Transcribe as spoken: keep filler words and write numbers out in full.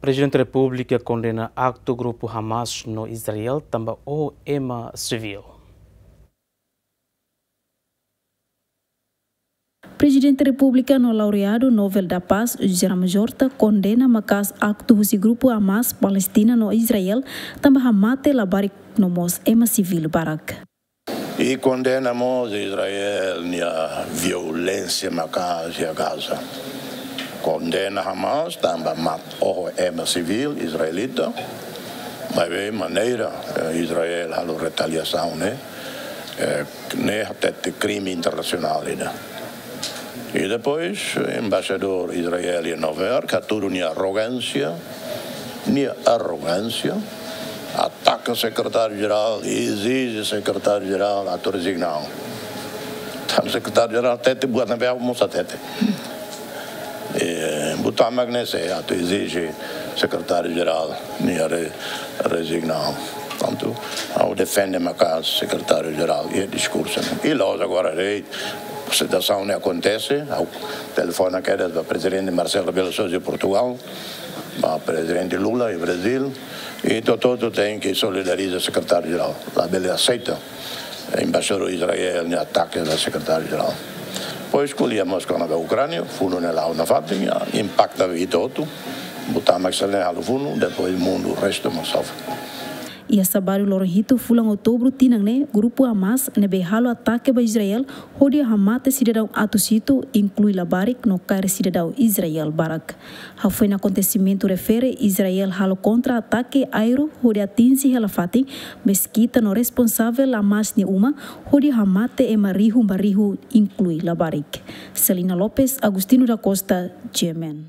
Prezidente Repúblika kondena aktu grupu Hamas no Israel tanba oho ema sivíl. Prezidente Repúblika no laureadu Nobel da Paz, José Ramos Horta, kondena maka'as aktu husi grupu Hamas, Palestina no Israel, tanba hamate labarik no mós ema sivíl barak. I kondena mós Israel nia violénsia maka'as iha Gaza. Kondena Hamas tanba mate oho ema sivíl israelita. Maibé maneira, eh, Israel halo retaliasaun ne'e, eh, ne'e hatete krime internasionál ida. I depois, embaixadór Israel iha Nova Iorque, hatudu nia arrogánsia, nia arrogánsia, ataka sekretáriu-jerál, ezije sekretáriu-jerál atu rezigna. Tanba sekretáriu-jerál hatete buat ne'ebé ha'u mós hatete. Eh, buat mak ne'e, atu ezije sekretáriu-jerál nia re-, rezigna. Portantu, ha'u defende maka'as sekretáriu-jerál iha diskursu ne'e. I loos agora, rei, situasaun ne'e akontese, ha'u telefona kedas ba Prezidente Marcelo Rebelo de Sousa iha Portugal, ba Prezidente Lula iha Brazil, i hotu-hotu tenke solidariza sekretáriu-jerál. Labele aseita embaixadór Israel nia atake ba sekretáriu-jerál. Depois ko'alia mós kona-ba Ukránia, funu ne'e la'o nafatin, ya, impakta ba ita hotu. Buat mak sira ne'e halo funu, depois mundu restu mós sofre. Iha sábadu loron hitu fulan Outubru tinan ne'e, grupu Hamas ne'ebé halo atake ba Israel, hodi hamate sidadaun atus hitu, inklui labarik no kaer sidadaun Israel barak. Hafoin akontesimentu refere, Israel halo kontra-atake aéreu hodi atinje hela fatin, meskita no responsavel Hamas nia uma, hodi hamate ema rihun ba rihun, inklui labarik. Celina Lopes, Agostinho da Costa, G M N.